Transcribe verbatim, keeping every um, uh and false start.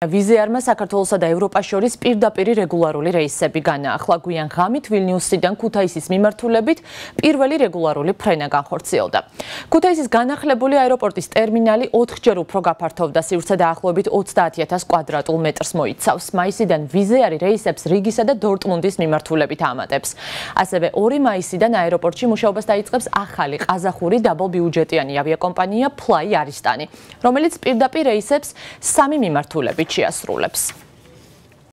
ვიზეარმა საქართველოსა და ევროპას შორის პირდაპირი რეგულარული რეისები განაახლა. გვიან ღამით ვილნიუსიდან ქუთაისის მიმართულებით პირველი რეგულარული ფრენა განხორციელდა. ქუთაისის განახლებული აეროპორტის ტერმინალი ოთხჯერ უფრო გაფართოვდა, სივრცე დაახლოებით ოცდაათი ათას კვადრატულ მეტრს მოიცავს. მაისიდან ვიზეარი რეისებს რიგისა და დორტმუნდის მიმართულებით ამატებს. ასევე ორი მაისიდან აეროპორტში მუშაობას დაიწყებს ახალი ყაზახური დაბალბიუჯეტიანი ავიაკომპანია Fly Aristani, რომელიც პირდაპირ რეისებს სამი მიმართულებით შეასრულებს.